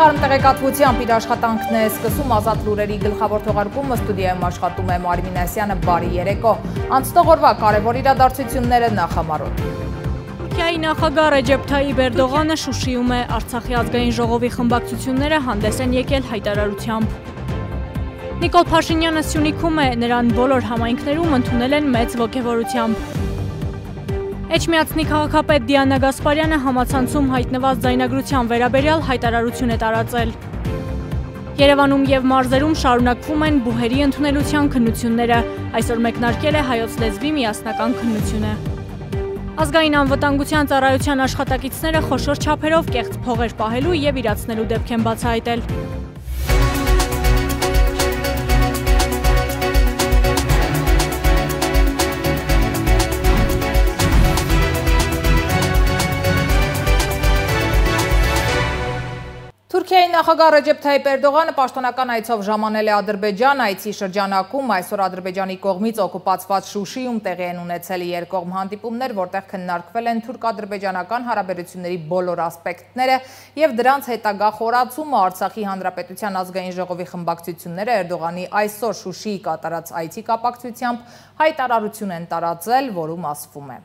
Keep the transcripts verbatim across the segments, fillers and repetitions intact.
Թարմ տեղեկատվությամբ իր աշխատանքն է սկսում Ազատ լուրերի գլխավոր թողարկումը, ստուդիայում աշխատում է Մարի Մինասյանը, բարի երեկո։ Անցնող օրվա կարևոր իրադարձությունները նախամարոտ։ Թուրքիայի նախագահ Ռեջեփ Թայիփ Էրդողանը Շուշիում է, Արցախի ազգային ժողովի խմբակցությունները հանդես են եկել հայտարարությամբ։ Նիկոլ Փաշինյանը Սյունիքում է, նրան բոլոր համայնքներում ընդունել են մեծ ոգևորությամբ։ Էջմիածնի քաղաքապետ Դիանա Գասպարյանը համացանցում հայտնված ձայնագրության վերաբերյալ հայտարարություն է տարածել։ Երևանում և մարզերում շարունակվում են բուհերի ընդունելության քննությունները, այսօր մեկնարկել է հայոց լեզվի միասնական քննությունը։ Ազգային անվտանգության ծառայության աշխատակիցները խոշոր չափերով կեղծ փողեր պահելու և իրացնելու դեպք են բացահայտել։ Թուրքիայի նախագահ Ռեջեփ Թայիփ Էրդողանը պաշտոնական այցով ժամանել է Ադրբեջան, այցի շրջանակում այսօր Ադրբեջանի կողմից օկուպացված Շուշիում տեղի են ունեցել երկկողմ հանդիպումներ, որտեղ քննարկվել են թուրք-ադրբեջանական հարաբերությունների բոլոր ասպեկտները և դրանց հետագա խորացումը։ Արցախի Հանրապետության ազգային ժողովի խմբակցությունները Էրդողանի այսօր Շուշիի կատարած այցի կապակցությամբ հայտարարություն են տարածել, որում ասվում է.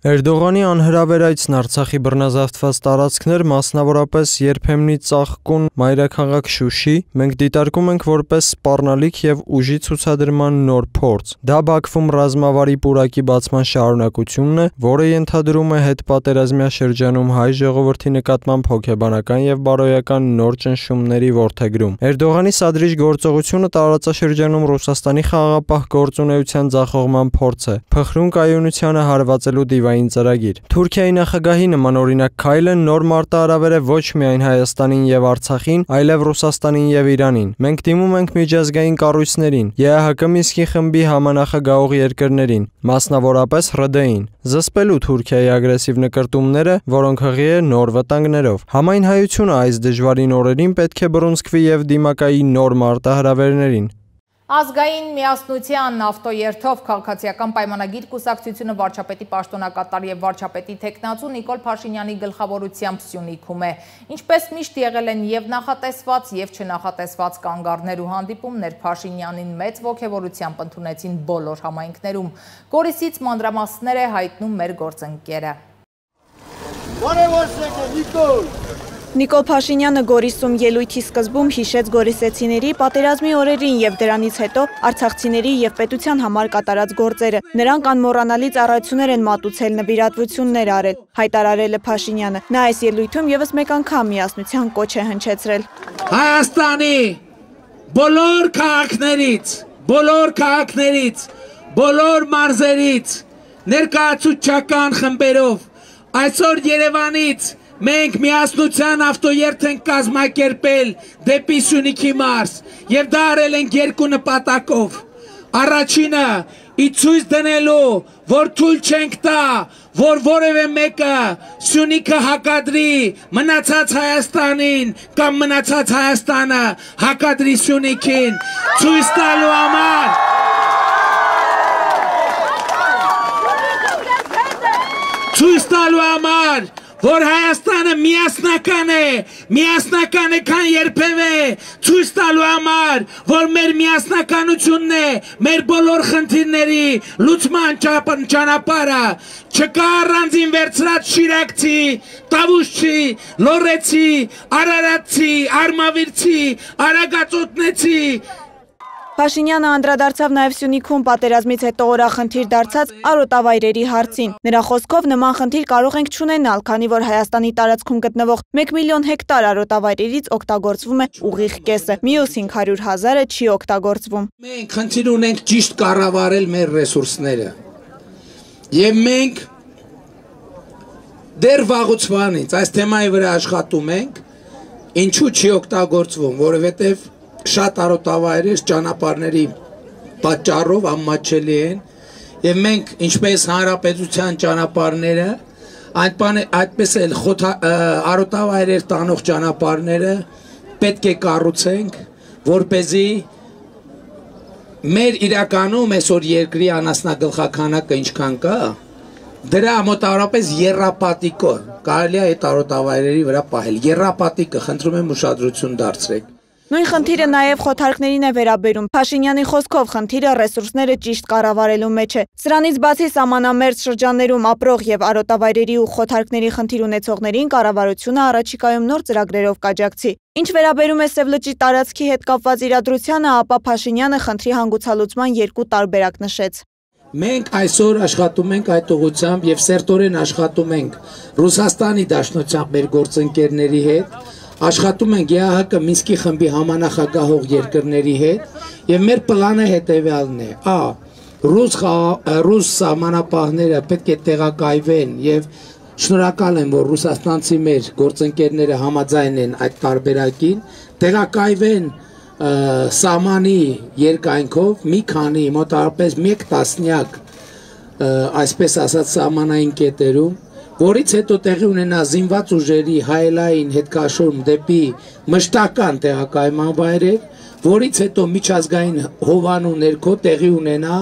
Էրդողանի անհրավեր այցն Արցախի բռնազավթված տարածքներ, մասնավորապես երբեմնի ծաղկուն մայրաքաղաք Շուշի, մենք դիտարկում ենք որպես սպառնալիք և ուժի ցուցադրման նոր փորձ։ Դա Բաքվում ռազմավարի պուրակի բացման շարունակությունն է, որը ենթադրում է հետպատերազմյա շրջանում հայ ժողովրդի նկատմամբ հոգեբանական և բարոյական նոր ճնշումների որդեգրում։ Էրդողանի սադրիչ գործողությունը տարածաշրջանում Ռուսաստանի խաղաղապահ գործունեության ձախողման փորձ է, փխրուն կայունությանը հարվածելու դիվային ծրագիր։ Թուրքիայի նախագահի նմանօրինակ քայլը նոր մարտահրավեր է ոչ միայն Հայաստանին և Արցախին, այլև Ռուսաստանին և Իրանին։ Մենք դիմում ենք միջազգային կառույցներին, ԵԱՀԿ Մինսկի խմբի համանախագահող երկրներին, մասնավորապես ՌԴ-ին, զսպելու Թուրքիայի ագրեսիվ նկրտումները, որոնք հղի է նոր վտանգներով։ Համայնհայությունը այս դժվարին օրերին պետք է բռունցքվի և դիմակայի նոր մարտահրավերներին։ Ազգային միասնության ավտոերթով քաղաքացիական պայմանագիր կուսակցությունը վարչապետի պաշտոնակատար և վարչապետի թեկնածու Նիկոլ Փաշինյանի գլխավորությամբ Սյունիքում է։ Ինչպես միշտ եղել են և նախատեսված և չնախատեսված կանգառներ ու հանդիպումներ, Փաշինյանին մեծ ոգևորությամբ ընդունեցին բոլոր համայնքներում։ Գորիսից մանրամասներ է հայտնում մեր գործընկերը։ Նիկոլ Փաշինյանը Գորիսում ելույթի սկզբում հիշեց գորիսեցիների պատերազմի օրերին և դրանից հետո արցախցիների և պետության համար կատարած գործերը։ Նրանք անմոռանալի ծառայություններ են մատուցել, նվիրատվություններ արել, հայտարարել է Փաշինյանը։ Նա այս ելույթում ևս մեկ անգամ միասնության կոչ է հնչեցրել։ Հայաստանի բոլոր քաղաքներից, բոլոր քաղաքներից, բոլոր մարզերից, ներկայացուցչական խմբերով այսօր Երևանից մենք միասնության ավտոերթ ենք կազմակերպել դեպի Սյունիքի մարզ և դա արել ենք երկու նպատակով։ Առաջինը ի ցույց դնելու, որ թույլ չենք տա, որ որևէ մեկը Սյունիքը հակադրի մնացած Հայաստանին կամ մնացած Հայաստանը հակադրի Սյունիքին, ցույց տալու համար ցույց տալու համար որ Հայաստանը միասնական է, միասնական է քան երբևէ, ցույց տալու համար, որ մեր միասնականությունն է, մեր բոլոր խնդիրների լուծման ճանապարհը, չկա առանձին վերցրած շիրակցի, տավուշչի, լոռեցի, արարատցի, արմավիրցի, արագածոտնեցի։ Փաշինյանը անդրադարձավ նաև Սյունիքում պատերազմից հետո օրախնդիր դարձած արոտավայրերի հարցին։ Նրա խոսքով նման խնդիր կարող ենք չունենալ, քանի որ Հայաստանի տարածքում գտնվող մեկ միլիոն հեկտար արոտավայրերից օգտագործվում է ուղիղ կեսը, մյուս հինգ հարյուր հազարը չի օգտագործվում։ Մենք խնդիր ունենք ճիշտ կառավարել մեր ռեսուրսները։ Եվ մենք դեռ վաղուց վանից այս թեմայի վրա աշխատում ենք, ինչու չի օգտագործվում, որովհետև շատ արոտավայրեր ճանապարհների պատճառով անմատչելի են եւ մենք ինչպես հանրապետության ճանապարհները այդպես էլ արոտավայրեր տանող ճանապարհները պետք է կառուցենք, որպեսզի մեր իրականում այսօր երկրի անասնագլխականակը ինչքան կա, դրա մոտավորապես եռապատիկը կարելի է այդ արոտավայրերի վրա պահել։ Եռապատիկը խնդրում եմ ուշադրություն դարձրեք։ Նույն խնդիրը նաև խոթարքներին է վերաբերում։ Փաշինյանի խոսքով խնդիրը ռեսուրսները ճիշտ կառավարելու մեջ է։ Սրանից բացի սահմանամերձ շրջաններում ապրող եւ արոտավայրերի ու խոթարքների խնդիր ունեցողներին կառավարությունը առաջիկայում նոր ծրագրերով կաջակցի։ Ինչ վերաբերում է Սևլճի տարածքի հետ կապված իրադրությանը, ապա Փաշինյանը խնդրի հանգուցալուծման երկու տարբերակ նշեց։ Մենք այսօր աշխատում ենք այդ ուղղությամբ եւ սերտորեն աշխատում ենք Ռուսաստանի Դաշնությամբ մեր գործընկերների հետ, աշխատում ենք Ե Ահ Կ Մինսկի խմբի համանախագահող երկրների հետ եւ մեր պլանը հետեւյալն է. Ա. Ռուս ռուս սահմանապահները պետք է տեղակայվեն եւ շնորհակալ եմ, որ ռուսաստանցի մեր գործընկերները համաձայն են այդ տարբերակին, տեղակայվեն սահմանի երկայնքով մի քանի մոտավորապես մեկ տասնյակ այսպես ասած սահմանային կետերում, որից հետո տեղի ունենա զինված ուժերի հայելային հետքաշորում դեպի մշտական տեղակայման վայրեր, որից հետո միջազգային հովանու ներքո տեղի ունենա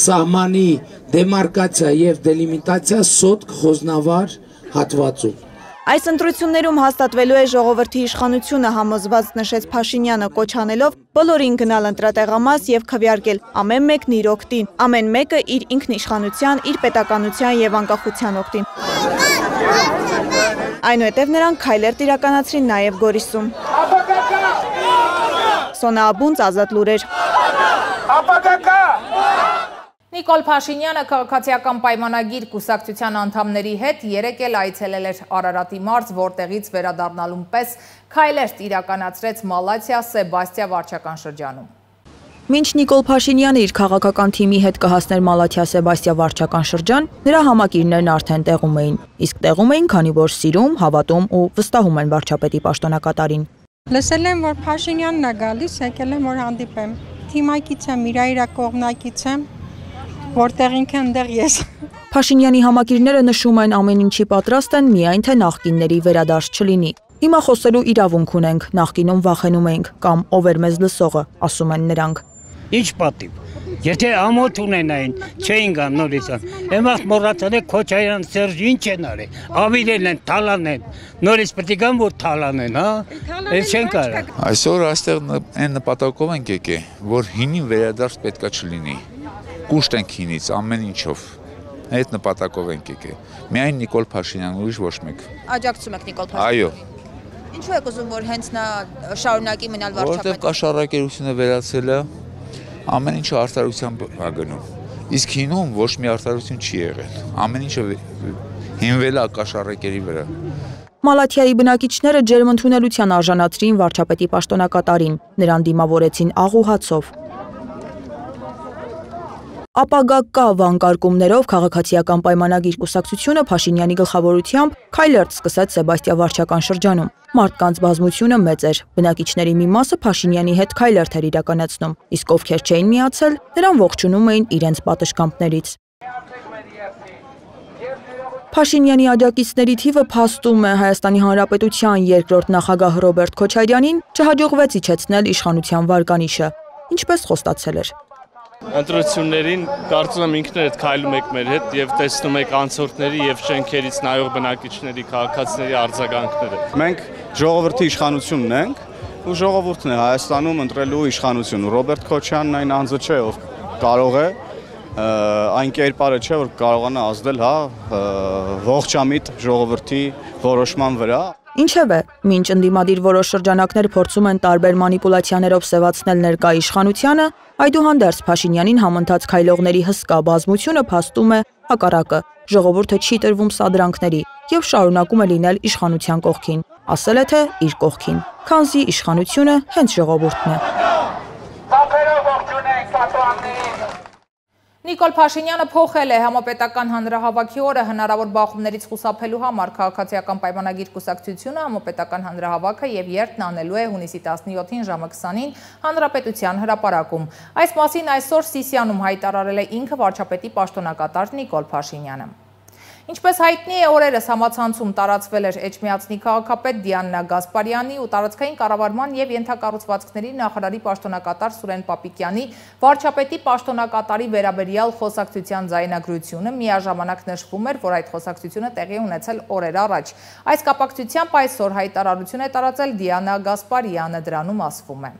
սահմանի դեմարկացիա եւ դելիմիտացիա սոտք խոզնավար հատվածում։ Այս ընտրություններում հաստատվելու է ժողովրդի իշխանությունը, համոզված նշեց Փաշինյանը, կոչ անելով բոլորին գնալ ընտրատեղամաս եւ քվեարկել ամեն մեկն իր օգտին, ամեն մեկը իր ինքնիշխանության, իր պետականության եւ անկախության օգտին։ Այնուհետև նրանք քայլեր իրականացրին նաեւ Գորիսում։ Սոնա Աբունց, Ազատ լուրեր։ Նիկոլ Փաշինյանը քաղաքացիական պայմանագիր կուսակցության անդամների հետ երեկ էլ այցելել էր Արարատի մարզ, որտեղից վերադառնալուն պես քայլեր իրականացրեց Մալաթիա Սեբաստիա վարչական շրջանում։ Մինչ Նիկոլ Փաշինյանը իր քաղաքական թիմի հետ կհասներ Մալաթիա Սեբաստիա վարչական շրջան, նրա համակիրներն արդեն տեղում էին, իսկ տեղում էին, քանի որ սիրում, հավատում ու վստահում են վարչապետի պաշտոնակատարին։ Լսել եմ, որ Փաշինյանն է գալիս, եկել եմ, որ հանդիպեմ։ Թիմակից եմ, իրա իրա կողմնակից եմ, որտեղ ինքը ընդեղ ես։ Փաշինյանի համակիրները նշում են ամեն ինչի պատրաստ են, միայն թե նախկինների վերադարձ չլինի։ Հիմա խոսելու իրավունք ունենք, նախկինում վախենում էինք, կամ ով էր մեզ լսողը, ասում են նրանք։ Ինչ պատիվ։ Եթե ամոթ ունենային, չէին գան նորից։ Էմախ մոռացել է Քոչարյան Սերժ ինչ են արել։ Ավիրել են, թալանեն։ Նորից պետք է գան, որ թալանեն, հա։ Այս չեն կարող։ Այսօր այստեղ այն նպատակով ենք եկել, որ հինին վերադարձ պետքա չլինի։ Կուշտ ենք հինից ամեն ինչով։ Այդ նպատակով ենք եկել։ Միայն Նիկոլ Փաշինյան, ուրիշ ոչ մեկ։ Աջակցում եք Նիկոլ Փաշինյանին։ Այո։ Ինչու եք ուզում, որ հենց նա շարունակի մնալ վարչապետ։ Որտեղ կաշառակերությունը վերացել է, ամեն ինչը արդարությամբ է գնում։ Իսկ հինում ոչ մի արդարություն չի եղել։ Ամեն ինչը հիմնվել է կաշառակերի վրա։ Մալաթիայի բնակիչները ջերմընդունելության արժանացրին վարչապետի պաշտոնակատարին, նրան դիմավորեցին աղ ու հացով։ Ապագա կա վանկարկումներով քաղաքացիական պայմանագիր կուսակցությունը Փաշինյանի գլխավորությամբ քայլերթ սկսեց Սեբաստիա վարչական շրջանում։ Մարդկանց բազմությունը մեծ էր, բնակիչների մի մասը Փաշինյանի հետ քայլերթ էր իրականացնում, իսկ ովքեր չէին միացել, նրան ողջունում էին իրենց պատշգամբներից։ Փաշինյանի աջակիցների թիվը փաստում է Հայաստանի Հանրապետության երկրորդ նախագահ Ռոբերտ Քոչարյանին չհաջողվեց իջեցնել իշխանության վարկանիշը, ինչպես խոստացել էր։ Ընտրություններին կարծում եմ ինքներդ քայլում եք մեր հետ եւ տեսնում եք անցորդների եւ շենքերից նայող բնակիչների քաղաքացիների արձագանքները։ Մենք ժողովրդի իշխանությունն ենք ու ժողովուրդն է Հայաստանում ընտրելու իշխանություն։ Ռոբերտ Քոչարյանն այն անձը չէ, ով կարող է այն կերպարը չէ, որ կարողանա ազդել, հա, ողջամիտ ժողովրդի որոշման վրա։ Ինչևէ, մինչ ընդդիմադիր որոշ շրջանակներ փորձում են տարբեր մանիպուլացիաներով սևացնել ներկա իշխանությանը, այդուհանդերձ Փաշինյանին համընթաց քայլողների հսկա բազմությունը փաստում է հակառակը։ Ժողովուրդը չի տրվում սադրանքների եւ շարունակում է լինել իշխանության կողքին, ասել է թե իր կողքին, քանզի իշխանությունը հենց ժողովուրդն է։ Նիկոլ Փաշինյանը փոխել է համապետական հանրահավաքի օրը հնարավոր բախումներից խուսափելու համար քաղաքացիական պայմանագիր կուսակցությունը համապետական հանրահավաքը եւ երթն անելու է հունիսի տասնյոթին ժամը քսանին Հանրապետության հրապարակում։ Այս մասին այսօր Սիսիանում հայտարարել է ինքը վարչապետի պաշտոնակատար Նիկոլ Փաշինյանը։ Ինչպես հայտնի է, օրերս համացանցում տարածվել էր Էջմիածնի քաղաքապետ Դիանա Գասպարյանի ու տարածքային կառավարման եւ ենթակառուցվածքների նախարարի պաշտոնակատար Սուրեն Պապիկյանի վարչապետի պաշտոնակատարի վերաբերյալ խոսակցության ձայնագրությունը միաժամանակ նշվում էր, որ այդ խոսակցությունը տեղի ունեցել օրեր առաջ։ Այս կապակցությամբ այսօր հայտարարություն է տարածել Դիանա Գասպարյանը, դրանում ասվում է.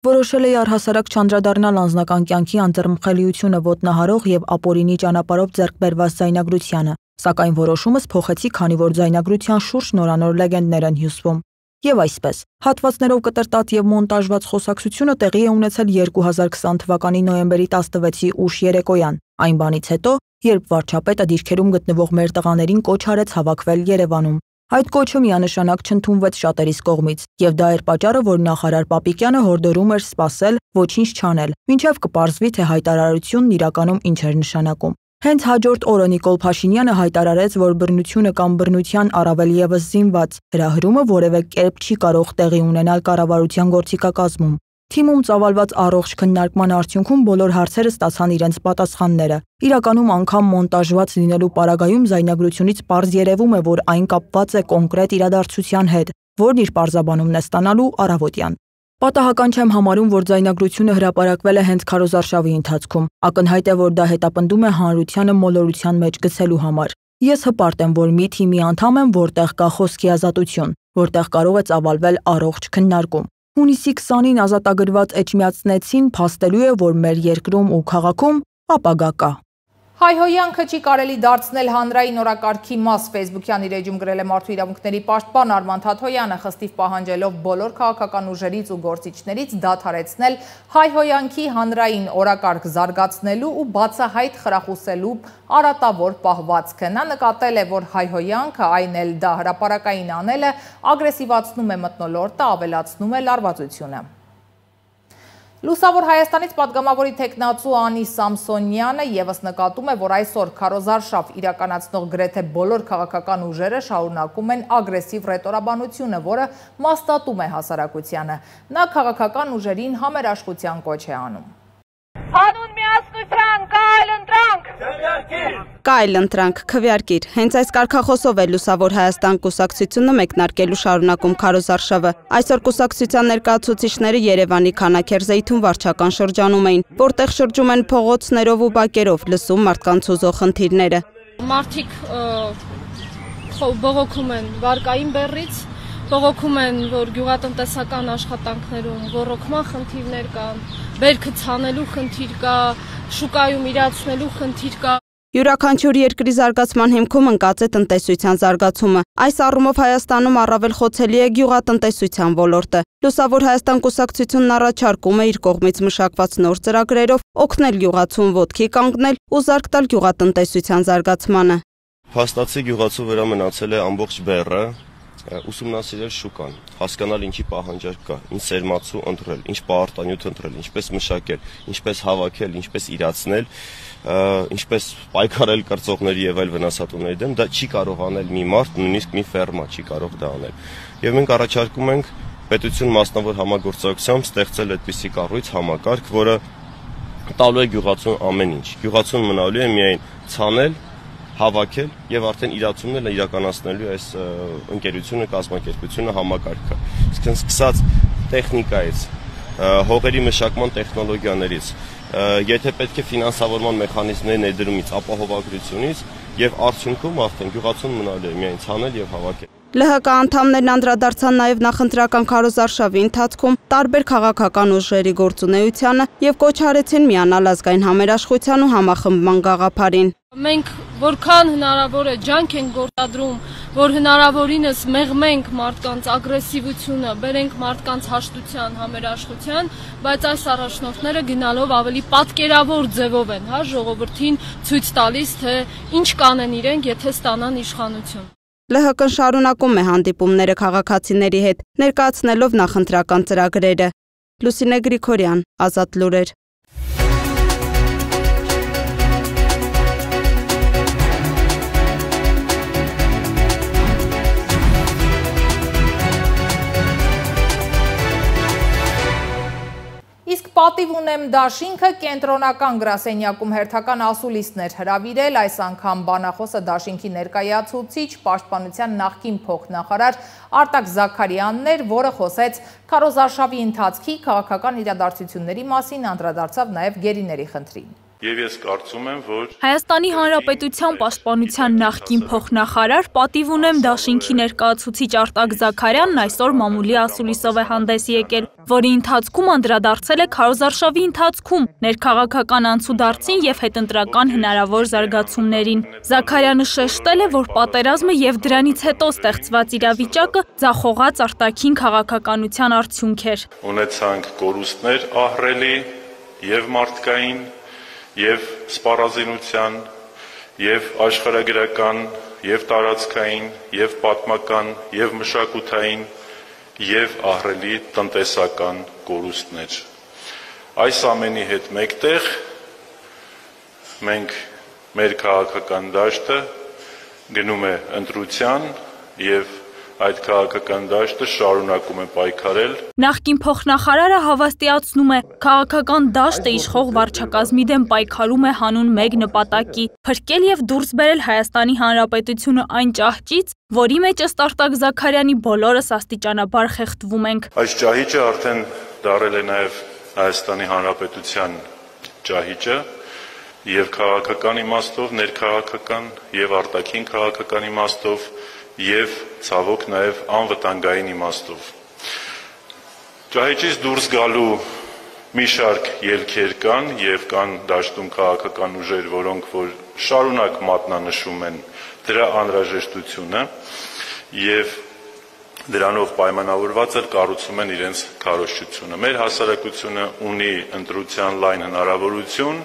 Որոշել է առհասարակ չանդրադառնալ անձնական կյանքի անձեռնմխելիությունը ոտնահարող եւ ապօրինի ճանապարհով ձեռք բերված ձայնագրությանը, սակայն որոշումս փոխեցի, քանի որ ձայնագրության շուրջ նորանոր լեգենդներ են հյուսվում։ Եվ այսպես, հատվածներով կտրտած եւ մոնտաժված խոսակցությունը տեղի է ունեցել երկու հազար քսան թվականի նոյեմբերի տասնվեցի ուշ երեկոյան, այն բանից հետո, երբ վարչապետը դիրքերում գտնվող մեր տղաներին կոչ արեց հավաքվել Երևանում։ Այդ կոչը միանշանակ չընդունվեց շատերիս կողմից, եւ դա էր պատճառը, որ նախարար Պապիկյանը հորդորում էր սպասել, ոչինչ չանել, մինչև կպարզվի, թե հայտարարությունն իրականում ինչ էր նշանակում։ Հենց հաջորդ օրը Նիկոլ Փաշինյանը հայտարարեց, որ բռնությունը կամ բռնության առավել եւս զինված հրահրումը որևէ կերպ չի կարող տեղի ունենալ կառավարության գործիքակազմում։ Թիմում ծավալված առողջ քննարկման արդյունքում բոլոր հարցերը ստացան իրենց պատասխանները։ Իրականում անգամ մոնտաժված լինելու պարագայում ձայնագրությունից պարզ երևում է, որ այն կապված է կոնկրետ իրադարձության հետ, որն իր պարզաբանումն է ստանալու առավոտյան։ Պատահական չեմ համարում, որ ձայնագրությունը հրապարակվել է հենց քարոզարշավի ընթացքում։ Ակնհայտ է, որ դա հետապնդում է հանրությանը մոլորության մեջ գցելու համար։ Ես հպարտ եմ, որ մի թիմի անդամ եմ, որտեղ կա խոսքի ազատություն, որտեղ կարող է ծավալվել առողջ քննարկում։ Հունիսի քսանին ազատագրված էջմիածնեցին փաստելու է, որ մեր երկրում ու քաղաքում ապագա կա։ Հայհոյանքը չի կարելի դարձնել հանրային օրակարգի մաս, Facebook-յան իր էջում գրել է Մարդու իրավունքների պաշտպան Արման Թաթոյանը, խստիվ պահանջելով բոլոր քաղաքական ուժերից ու գործիչներից դադարեցնել հայհոյանքի հանրային օրակարգ զարգացնելու ու բացահայտ խրախուսելու արատավոր պահվածքը։ Նա նկատել է, որ հայհոյանքը, այն էլ դա հրապարակային անելը, ագրեսիվացնում է մթնոլորտը, ավելացնում է լարվածությունը։ Լուսավոր Հայաստանից պատգամավորի թեկնածու Անի Սամսոնյանը ևս նկատում է, որ այսօր քարոզարշավ իրականացնող գրեթե բոլոր քաղաքական ուժերը շարունակում են ագրեսիվ ռետորաբանությունը, որը մաստատում է հասարակությանը։ Նա քաղաքական ուժերին համերաշխության կոչ է անում։ Հանուն միասնության կայլ ընտրանք, կայլ ընտրանք, քվեարկիր։ Հենց այս կարգախոսով է Լուսավոր Հայաստան կուսակցությունը մեկնարկելու շարունակում քարոզարշավը։ Այսօր կուսակցության ներկայացուցիչները Երևանի Քանաքերզեյթուն վարչական շրջանում էին, որտեղ շրջում են փողոցներով ու բակերով, լսում մարդկանց հուզող խնդիրները։ Մարդիկ բողոքում են վարկային բեռից, բողոքում են, որ գյուղատնտեսական աշխատանքներում ոռոգման խնդիրներ կան, բերքը ցանելու խնդիր կա, շուկայում իրացնելու խնդիր կա։ Յուրաքանչյուր երկրի զարգացման հիմքում ընկած է տնտեսության զարգացումը։ Այս առումով Հայաստանում առավել խոցելի է գյուղատնտեսության ոլորտը։ Լուսավոր Հայաստան կուսակցությունն առաջարկում է իր կողմից մշակված նոր ծրագրերով օգնել գյուղացուն ոտքի կանգնել ու զարգ տալ գյուղատնտեսության զարգացմանը։ Փաստացի գյուղացու վրա մնացել է ամբողջ բեռը, ուսումնասիրել շուկան, հասկանալ ինչի պահանջարկ կա, ինչ սերմացու ընտրել, ինչ պահարտանյութ ընտրել, ինչպես մշակել, ինչպես հավաքել, ինչպես իրացնել, ինչպես պայքարել կրծողների եւ այլ վնասատուների դեմ, դա չի կարող անել մի մարդ, նույնիսկ մի ֆերմա չի կարող դա անել։ Եվ մենք առաջարկում ենք պետություն մասնավոր համագործակցությամբ ստեղծել այդպիսի կառույց համակարգ, որը տալու է գյուղացուն ամեն ինչ։ Գյուղացուն մնալու է միայն ցանել, հավաքել եւ արդեն իրացումն է իրականացնելու այս ընկերությունը, կազմակերպությունը, համակարգը։ Իսկ սկսած տեխնիկայից, հողերի մշակման տեխնոլոգիաներից, եթե պետք է ֆինանսավորման մեխանիզմների ներդրումից, ապահովագրությունից եւ արդյունքում արդեն գյուղացուն մնալու է միայն ցանել եւ հավաքել։ Լ Հ Կ անդամներն անդրադարձան նաև նախընտրական քարոզարշավի ընթացքում տարբեր քաղաքական ուժերի գործունեությանը եւ կոչ արեցին միանալ ազգային համերաշխության ու համախմբման գաղափարին։ Մենք որքան հնարավոր է ջանք ենք գործադրում, որ հնարավորինս մեղմենք մարդկանց ագրեսիվությունը, բերենք մարդկանց հաշտության, համերաշխության, բայց այս առաջնորդները գնալով ավելի պատկերավոր ձևով են, հա, ժողովրդին ցույց տալիս, թե ինչ կանեն իրենք, եթե ստանան իշխանություն։ Լ Հ Կ-ն շարունակում է հանդիպումները քաղաքացիների հետ, ներկայացնելով նախընտրական ծրագրերը։ Լուսինե Գրիգորյան, Ազատ լուրեր։ Իսկ Պատիվ ունեմ դաշինքը կենտրոնական գրասենյակում հերթական ասուլիսներ հրավիրել, այս անգամ բանախոսը դաշինքի ներկայացուցիչ պաշտպանության նախկին փոխնախարար Արտակ Զաքարյանն էր, որը խոսեց քարոզարշավի ընթացքի քաղաքական իրադարձությունների մասին, անդրադարձավ նաև գերիների խնդրին։ Եվ ես կարծում եմ, որ Հայաստանի Հանրապետության պաշտպանության նախկին փոխնախարար պատիվ ունեմ դաշինքի ներկայացուցիչ Արտակ Զաքարյանն այսօր մամուլի ասուլիսով է հանդես եկել, որի ընթացքում անդրադարձել է քարոզարշավի ընթացքում ներքաղաքական անցուդարձին եւ հետընտրական հնարավոր զարգացումներին։ Զաքարյանը շեշտել է, որ պատերազմը եւ դրանից հետո ստեղծված իրավիճակը ձախողած արտաքին քաղաքականության արդյունք էր։ Ունեցանք կորուստներ ահռելի եւ մարդկային և սպառազինության, և աշխարհագրական, և տարածքային, և պատմական, և մշակութային, և ահռելի տնտեսական կորուստներ։ Այս ամենի հետ մեկտեղ մենք մեր քաղաքական դաշտը գնում է ընտրության և այդ քաղաքական դաշտը շարունակում է պայքարել։ Նախկին փոխնախարարը հավաստիացնում է, քաղաքական դաշտը իշխող վարչակազմի դեմ պայքարում է հանուն մեկ նպատակի՝ փրկել եւ դուրս բերել Հայաստանի Հանրապետությունը այն ճահճից, որի մեջ ըստ Արտակ Զաքարյանի բոլորս աստիճանաբար խեղդվում ենք։ Այս ճահիճը արդեն դարել է նաեւ Հայաստանի Հանրապետության ճահիճը եւ քաղաքական իմաստով, ներքաղաքական եւ արտաքին քաղաքական իմաստով և ցավոք նաև անվտանգային իմաստով։ Ճահիճից դուրս գալու մի շարք ելքեր կան և կան դաշտում քաղաքական ուժեր, որոնք որ շարունակ մատնանշում են դրա անհրաժեշտությունը և դրանով պայմանավորված էլ կառուցում են իրենց քարոզչությունը։ Մեր հասարակությունը ունի ընտրության լայն հնարավորություն,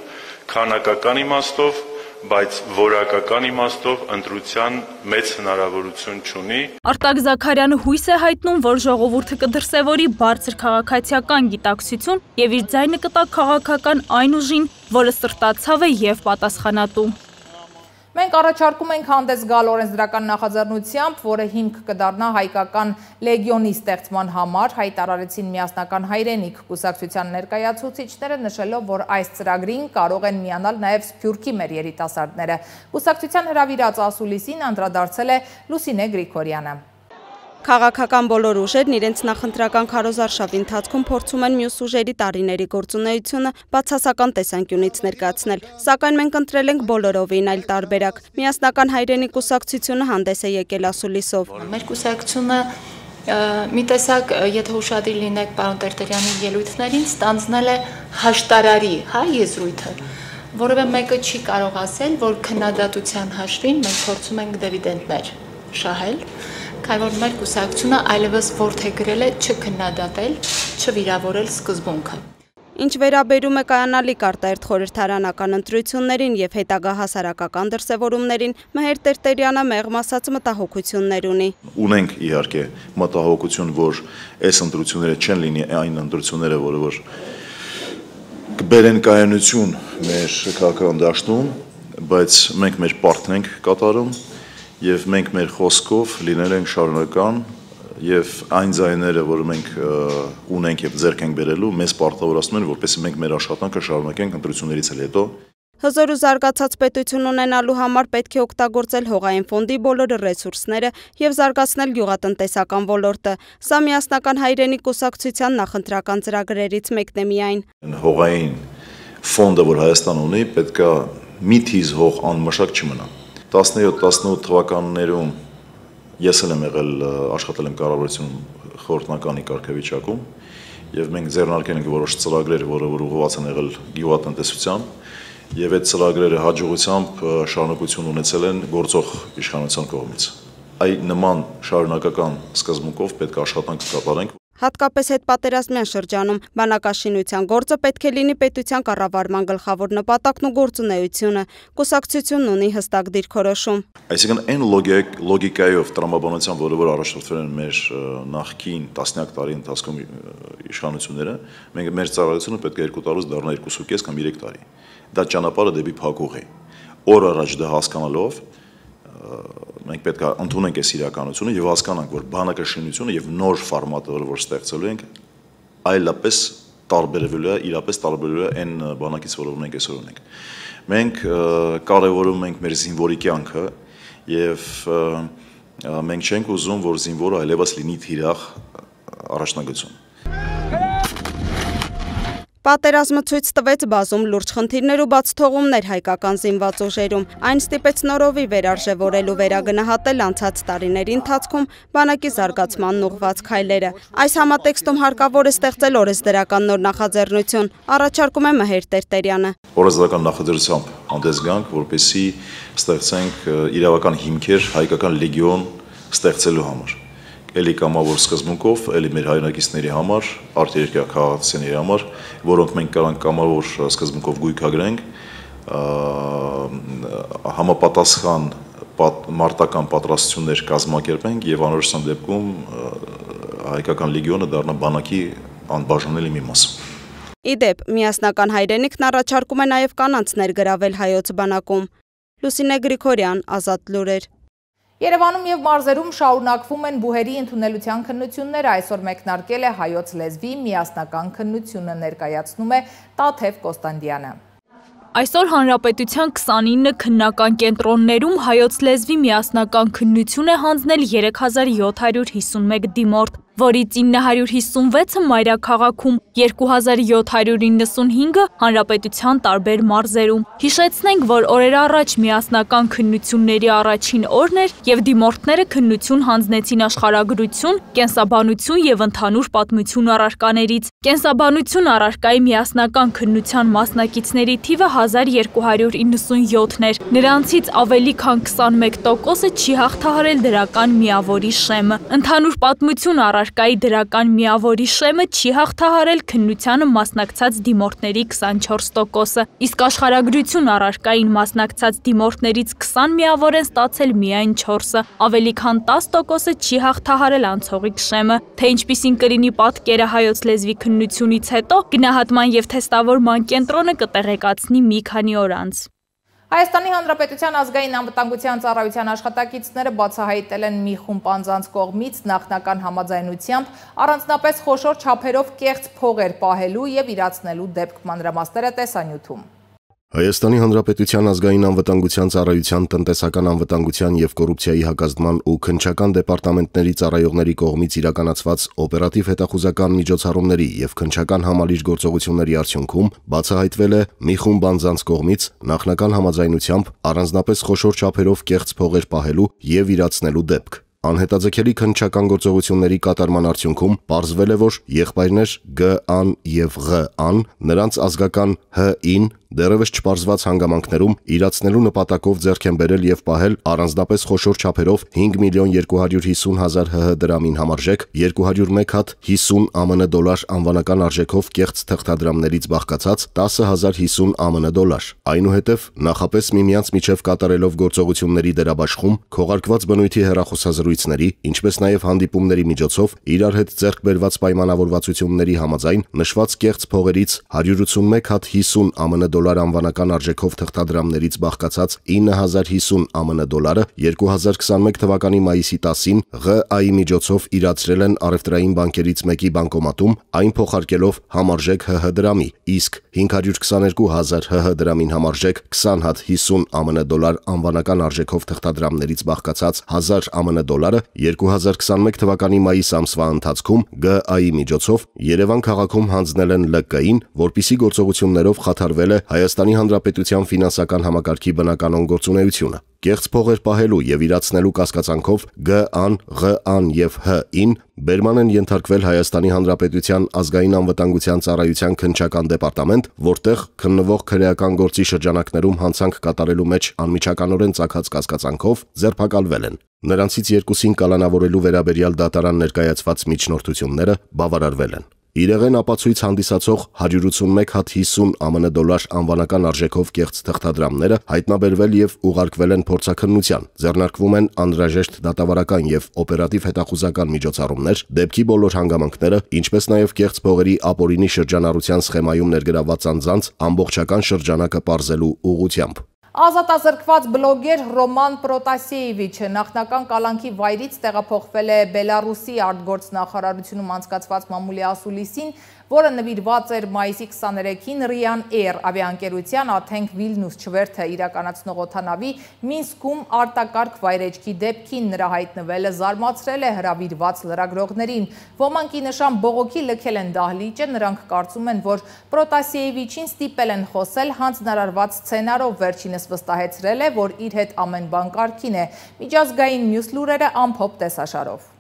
քանակական իմաստով, բայց որակական իմաստով ընտրության մեծ հնարավորություն չունի։ Արտակ Զաքարյանը հույս է հայտնում, որ ժողովուրդը կդրսևորի բարձր քաղաքացիական գիտակցություն եւ իր ձայնը կտա քաղաքական այն ուժին, որը սրտացավ է եւ պատասխանատու։ Մենք առաջարկում ենք հանդես գալ օրենսդրական նախաձեռնությամբ, որը հիմք կդառնա հայկական լեգիոնի ստեղծման համար, հայտարարեցին միասնական հայրենիք կուսակցության ներկայացուցիչները, նշելով, որ այս ծրագրին կարող են միանալ նաև Սփյուռքի մեր երիտասարդները։ Կուսակցության հրավիրած ասուլիսին անդրադարձել է Լուսինե Գրիգորյանը։ Քաղաքական բոլոր ուժերն իրենց նախընտրական քարոզարշավի ընթացքում փորձում են մյուս ուժերի տարիների գործունեությունը բացասական տեսանկյունից ներկայացնել, սակայն մենք ընտրել ենք բոլորովին այլ տարբերակ։ Միասնական հայրենիք կուսակցությունը հանդես է եկել ասուլիսով։ Մեր կուսակցությունը մի տեսակ, եթե ուշադիր լինեք պարոն Տերտերյանի ելույթներին, ստանձնել է հաշտարարի, հա, եզրույթը, որևէ մեկը չի կարող ասել, որ քննադատության հաշվին մենք փորձում ենք դիվիդենդներ շահել, քանի որ մեր կուսակցությունը այլևս որդեգրել է չքննադատել, չվիրավորել սկզբունքը։ Ինչ վերաբերում է կայանալիք արտահերթ խորհրդարանական ընտրություններին եւ հետագա հասարակական դրսևորումներին, Մհեր Տերտերյանը մեղմ ասած մտահոգություններ ունի։ Ունենք իհարկե մտահոգություն, որ այս ընտրությունները չեն լինի այն ընտրությունները, որը որ կբերեն կայանություն մեր քաղաքական դաշտում, բայց մենք մեր պարտքն ենք կատարում և մենք մեր խոսքով լինել ենք շարունակական և այն ձայները, որ մենք ունենք և ձեռք ենք բերելու, մեզ պարտավորացնում են, որպեսզի մենք մեր աշխատանքը շարունակենք ընտրություններից էլ հետո։ Հզոր ու զարգացած պետություն ունենալու համար պետք է օգտագործել հողային ֆոնդի բոլոր ռեսուրսները և զարգացնել գյուղատնտեսական ոլորտը։ Սա միասնական հայրենիք կուսակցության նախընտրական ծրագրերից մեկն է միայն։ Հողային ֆոնդը, որ Հայաստան ունի, պետք է մի թիզ հող անմշակ չմնա։ տասնյոթ տասնութ թվականներում ես էլ եմ եղել աշխատել եմ կառավարություն խորհրդնականի կարգավիճակում եւ մենք ձեռնարկել ենք որոշ ծրագրեր, որը որ ուղղված են եղել գյուղատնտեսության եւ այդ ծրագրերը հաջողությամբ շարունակություն ունեցել են գործող իշխանության կողմից։ Այ նման շարունակական սկզբունքով պետք է աշխատանք կատարենք։ Հատկապես հետպատերազմյան շրջանում բանակաշինության գործը պետք է լինի պետության կառավարման գլխավոր նպատակն ու գործունեությունը։ Կուսակցությունն ունի հստակ դիրքորոշում։ Այսինքն այն լոգիկայով տրամաբանությամբ, որը որ առաջնորդվել են մեր նախկին տասնյակ տարի ընթացքում իշխանությունները, մենք մեր ծառայությունը պետք է երկու տարուց դառնա երկուսուկես կամ երեք տարի։ Դա ճանապարհը դեպի փակուղ է։ Օր առաջ դա հասկանալով մենք պետք է ընդունենք այս իրականությունը եւ հասկանանք, որ բանակաշինությունը եւ նոր ֆորմատը, որ ստեղծելու ենք, այլապես տարբերվելու է, իրապես տարբերվելու է այն բանակից, որով մենք այսօր ունենք։ Մենք կարևորում ենք մեր զինվորի կյանքը եւ մենք չենք ուզում, որ զինվորը այլևս լինի թիրախ առաջնագծում։ Պատերազմը ցույց տվեց բազում լուրջ խնդիրներ ու բացթողումներ հայկական զինված ուժերում։ Այն ստիպեց նորովի վերարժևորել ու վերագնահատել անցած տարիների ընթացքում բանակի զարգացմանն ուղղված քայլերը։ Այս համատեքստում հարկավոր է ստեղծել օրենսդրական նոր նախաձեռնություն, առաջարկում է Մհեր Տերտերյանը։ Օրենսդրական նախաձեռնությամբ հանդես գանք, որպեսզի ստեղծենք իրավական հիմքեր հայկական լեգիոն ստեղծելու համար։ Էլի կամավոր սկզբունքով, էլի մեր հայրենակիցների համար, արտերկրյա քաղաքացիների համար, որոնք մենք կարանք կամավոր սկզբունքով գույքագրենք, համապատասխան մարտական պատրաստություններ կազմակերպենք եւ անորոշության դեպքում հայկական լեգիոնը դառնա բանակի անբաժանելի մի մաս։ Իդեպ, միասնական հայրենիքն առաջարկում է նաեւ կանանց ներգրավել հայոց բանակում։ Լուսինե Գրիգորյան, Ազատ լուրեր։ Երևանում եւ մարզերում շարունակվում են բուհերի ընդունելության քննությունները, այսօր մեկնարկել է հայոց լեզվի միասնական քննությունը, ներկայացնում է Տաթև Կոստանդյանը։ Այսօր Հանրապետության քսանինը քննական կենտրոններում հայոց լեզվի միասնական քննություն է հանձնել երեք հազար յոթ հարյուր հիսունմեկ դիմորդ, որից ինը հարյուր հիսունվեցը մայրաքաղաքում, երկու հազար յոթ հարյուր իննսունհինգը հանրապետության տարբեր մարզերում։ Հիշեցնենք, որ օրեր առաջ միասնական քննությունների առաջին օրն էր եւ դիմորդները քննություն հանձնեցին աշխարհագրություն, կենսաբանություն եւ ընդհանուր պատմություն առարկաներից։ Կենսաբանություն առարկայի միասնական քննության մասնակիցների թիվը հազար երկու հարյուր իննսունյոթն էր։ Նրանցից ավելի քան քսանմեկ տոկոսը չի հաղթահարել դրական միավորի շեմը։ Ընդհանուր պատմություն առարկայի դրական միավորի շեմը չի հաղթահարել քննությանը մասնակցած դիմորդների քսանչորս տոկոսը, իսկ աշխարհագրություն առարկային մասնակցած դիմորդներից քսան միավոր են ստացել միայն չորսը, ավելի քան տասը տոկոսը չի հաղթահարել անցողիկ շեմը։ Թե ինչպիսին կլինի պատկերը հայոց լեզվի քննությունից հետո, գնահատման եւ թեստավորման կենտրոնը կտեղեկացնի մի քանի օր անց։ Հայաստանի Հանրապետության ազգային անվտանգության ծառայության աշխատակիցները բացահայտել են մի խումբ անձանց կողմից նախնական համաձայնությամբ առանձնապես խոշոր չափերով կեղծ փողեր պահելու եւ իրացնելու դեպք, մանրամասները տեսանյութում։ Հայաստանի Հանրապետության ազգային անվտանգության ծառայության տնտեսական անվտանգության եւ կոռուպցիայի հակազդման ու քննչական դեպարտամենտների ծառայողների կողմից իրականացված օպերատիվ հետախուզական միջոցառումների եւ քննչական համալիր գործողությունների արդյունքում բացահայտվել է մի խումբ անձանց կողմից նախնական համաձայնությամբ առանձնապես խոշոր չափերով կեղծ փողեր պահելու եւ իրացնելու դեպք։ Անհետաձգելի քննչական գործողությունների կատարման արդյունքում պարզվել է, որ եղբայրներ Գ-ան եւ Ղ-ան նրանց ազգական Հ-ին դեռևս չպարզված հանգամանքներում իրացնելու նպատակով ձեռք են բերել եւ պահել առանձնապես խոշոր չափերով հինգ միլիոն երկու հարյուր հիսուն հազար Հ Հ դրամին համարժեք երկու հարյուր մեկ հատ հիսուն Α M N դոլար անվանական արժեքով կեղծ թղթադրամներից բաղկացած տասը հազար հիսուն Α M N դոլար։ Այնուհետև նախապես միմյանց միջև կատարելով գործողությունների դերաբաշխում, քողարկված բնույթի հեռախոսազրույցների, ինչպես նաեւ հանդիպումների միջոցով իրար հետ ձեռք բերված պայմանավորվածությունների համաձայն նշված կեղծ փողերից հարյուր ութսունմեկ հատ հիսուն Α M N դոլար անվանական արժեքով թղթադրամներից բաղկացած ինը հազար հիսուն Α M N դոլարը երկու հազար քսանմեկ թվականի մայիսի տասին Ղ-այի միջոցով իրացրել են առևտրային բանկերից մեկի բանկոմատում, այն փոխարկելով համարժեք Հ Հ դրամի, իսկ հինգ հարյուր քսաներկու հազար Հ Հ դրամին համարժեք քսան հատ հիսուն Α M N դոլար անվանական արժեքով թղթադրամներից բաղկացած հազար Α M N դոլարը երկու հազար քսանմեկ թվականի մայիս ամսվա ընթացքում Գ-այի միջոցով Երևան քաղաքում հանձնել են Л Կ-ին, որպիսի գործողություններով խաթարվել է Հայաստանի Հանրապետության ֆինանսական համակարգի բնականոն գործունեությունը։ Կեղծ փողեր պահելու եւ իրացնելու կասկածանքով Գ-ան, Ղ-ան եւ Հ-ին բերման են ենթարկվել Հայաստանի Հանրապետության ազգային անվտանգության ծառայության քննչական դեպարտամենտ, որտեղ քննվող քրեական գործի շրջանակներում հանցանք կատարելու մեջ անմիջականորեն ծագած կասկածանքով ձերբակալվել են։ Նրանցից երկուսին կալանավորելու վերաբերյալ դատարան ներկայացված միջնորդությունները բավարարվել են։ Իրեղեն ապացույց հանդիսացող հարյուր ութսունմեկ հատ հիսուն Α M N դոլար անվանական արժեքով կեղծ թղթադրամները հայտնաբերվել եւ ուղարկվել են փորձաքննության։ Ձեռնարկվում են անհրաժեշտ դատավարական եւ օպերատիվ հետախուզական միջոցառումներ, դեպքի բոլոր հանգամանքները, ինչպես նաեւ կեղծ փողերի ապօրինի շրջանառության սխեմայում ներգրավված անձանց ամբողջական շրջանակը պարզելու ուղղությամբ։ Ազատազրկված բլոգեր Ռոման Պրոտասեևիչը նախնական կալանքի վայրից տեղափոխվել է Բելարուսի արտգործնախարարությունում անցկացված մամուլի ասուլիսին, որը նվիրված էր մայիսի քսաներեքին Ryan Air ավիաընկերության Աթենք Վիլնյուս չվերթը իրականացնող օդանավի Մինսկում արտակարգ վայրեջքի դեպքին նրա հայտնվելը զարմացրել է հրավիրված լրագրողներին։ Ոմանք ի նշան բողոքի լքել են դահլիճը, նրանք կարծում են, որ Պրոտասիևիչին ստիպել են խոսել հանձնարարված սցենարով, վերջինս վստահեցրել է, որ իր հետ ամեն բան կարգին է։ Միջազգային մյուս լուրերը ամփոփ տեսաշարով։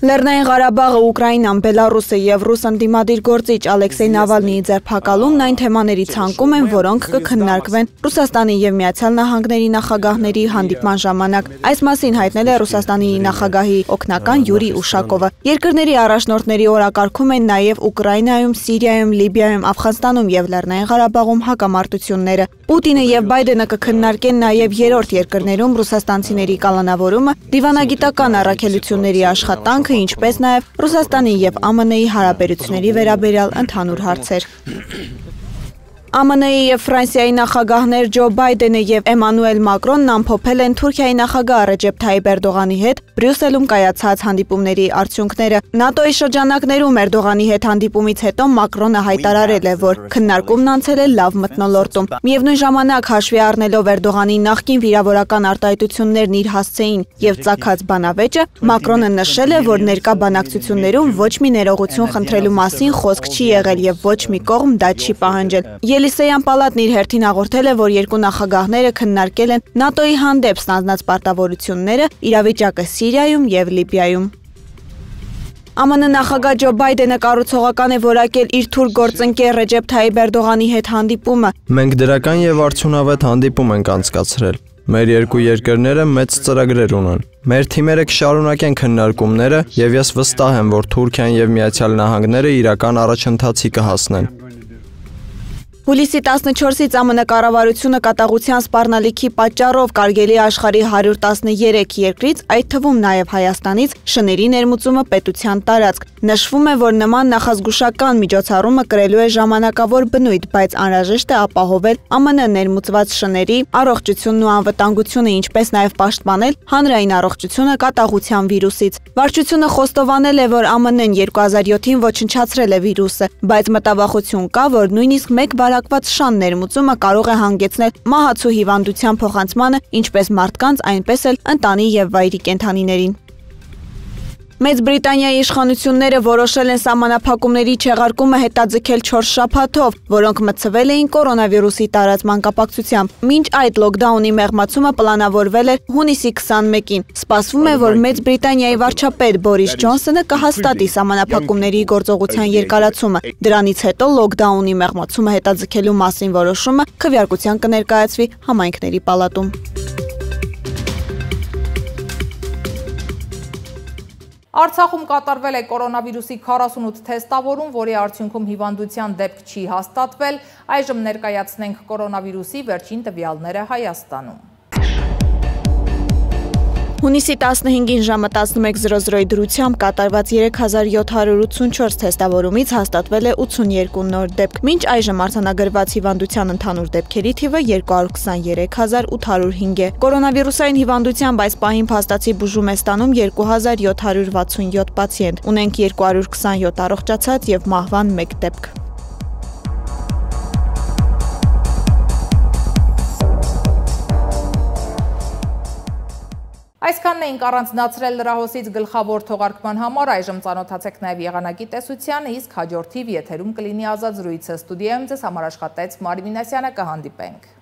Լեռնային Ղարաբաղը, Ուկրաինան, Բելարուսը եւ ռուս ընդդիմադիր գործիչ Ալեքսեյ Նավալնիի ձերբակալումն այն թեմաների ցանկում են, որոնք կքննարկվեն Ռուսաստանի եւ Միացյալ Նահանգների նախագահների հանդիպման ժամանակ։ Այս մասին հայտնել է Ռուսաստանի նախագահի օգնական Յուրի Ուշակովը։ Երկրների առաջնորդների օրակարգում են նաեւ Ուկրաինայում, Սիրիայում, Լիբիայում, Աֆղանստանում եւ Լեռնային Ղարաբաղում հակամարտությունները։ Պուտինը եւ Բայդենը կքննարկեն նաեւ երրորդ երկրներում ռուսաստանցիների կալանավորումը, դիվանագիտական առաքելությունների աշխատանք, ինչպես նաև Ռուսաստանի եւ Α M N-ի հարաբերությունների վերաբերյալ ընդհանուր հարցեր։ Α M N-ի եւ Ֆրանսիայի նախագահներ Ջո Բայդենը եւ Էմանուել Մակրոնն ամփոփել են Թուրքիայի նախագահ Ռեջեփ Թայիպ Էրդողանի հետ Բրյուսելում կայացած հանդիպումների արդյունքները։ ՆԱՏՕ-ի շրջանակներում Էրդողանի հետ հանդիպումից հետո Մակրոնը հայտարարել է, որ քննարկումն անցել է լավ մթնոլորտում։ Միևնույն ժամանակ հաշվի առնելով Էրդողանի նախկին վիրավորական արտահայտություններն իր հասցեին եւ ծագած բանավեճը, Մակրոնը նշել է, որ ներկա բանակցություններում ոչ մի ներողություն խնդրելու մասին խոսք չի եղել եւ ոչ մի կողմ դա չի պահանջել։ Ելիսեյան պալատն իր հերթին հաղորդել է, որ երկու նախագահները քննարկել են ՆԱՏՕ-ի հանդեպ ստանձնած պարտավորությունները, իրավիճակը Սիրիայում եւ Լիբիայում։ Α M N նախագահ Ջո Բայդենը կառուցողական է որակել իր թուրք գործընկեր Ռեջեփ Թայիպ Էրդողանի հետ հանդիպումը։ Մենք դրական եւ արդյունավետ հանդիպում ենք անցկացրել։ Մեր երկու երկրները մեծ ծրագրեր ունեն։ Մեր թիմերը կշարունակեն քննարկումները եւ ես վստահ եմ, որ Թուրքիան եւ Միացյալ Նահանգները իրական առաջընթացի կհասնեն։ Հուլիսի տասնչորսից Á M N կառավարությունը կատաղության սպառնալիքի պատճառով կարգելի աշխարհի հարյուր տասներեք երկրից, այդ թվում նաև Հայաստանից, շների ներմուծումը պետության տարածք։ Նշվում է, որ նման նախազգուշական միջոցառումը կրելու է ժամանակավոր բնույթ, բայց անհրաժեշտ է ապահովել Á M N ներմուծված շների առողջությունն ու անվտանգությունը, ինչպես նաև պաշտպանել հանրային առողջությունը կատաղության վիրուսից։ Վարչությունը խոստովանել է, որ Á M N-ն երկու հազար յոթին ոչնչացրել է վիրուսը, բայց մտավախություն կա, որ նույնիսկ մեկ բարակված շան ներմուծումը կարող է հանգեցնել մահացու հիվանդության փոխանցմանը ինչպես մարդկանց, այնպես էլ ընտանի եւ վայրի կենդանիներին։ Մեծ Բրիտանիայի իշխանությունները որոշել են սահմանափակումների չեղարկումը հետաձգել չորս շաբաթով, որոնք մտցվել էին կորոնավիրուսի տարածման կապակցությամբ։ Մինչ այդ լոկդաունի մեղմացումը պլանավորվել էր հունիսի քսաներեքին։ Սպասվում է, որ Մեծ Բրիտանիայի վարչապետ Բորիս Ջոնսոնը կհաստատի սահմանափակումների գործողության երկարացումը։ Դրանից հետո լոկդաունի մեղմացումը հետաձգելու մասին որոշումը քվեարկության կներկայացվի համայնքների պալատում։ Արցախում կատարվել է կորոնավիրուսի քառասունութ թեստավորում, որի արդյունքում հիվանդության դեպք չի հաստատվել, այժմ ներկայացնենք կորոնավիրուսի վերջին տվյալները Հայաստանում։ Հունիսի տասնհինգին ժամը տասնմեկ զրո զրոյի դրությամբ կատարված երեք հազար յոթ հարյուր ութսունչորս թեստավորումից հաստատվել է ութսուներկու նոր դեպք։ Մինչ այժմ արձանագրված հիվանդության ընդհանուր դեպքերի թիվը երկու հարյուր քսաներեք հազար ութ հարյուր հինգ է։ Կորոնավիրուսային հիվանդությամբ այս պահին փաստացի բուժում է ստանում երկու հազար յոթ հարյուր վաթսունյոթ պացիենտ։ Ունենք երկու հարյուր քսանյոթ առողջացած եւ մահվան մեկ դեպք։ Այսքանն էինք առանձնացրել լրահոսից գլխավոր թողարկման համար, այժմ ծանոթացեք նաև եղանակի տեսությանը, իսկ հաջորդ թիվ եթերում կլինի ազատ զրույցը։ Ստուդիայում ձեզ համար աշխատեց Մարի Մինասյանը, կհանդիպենք։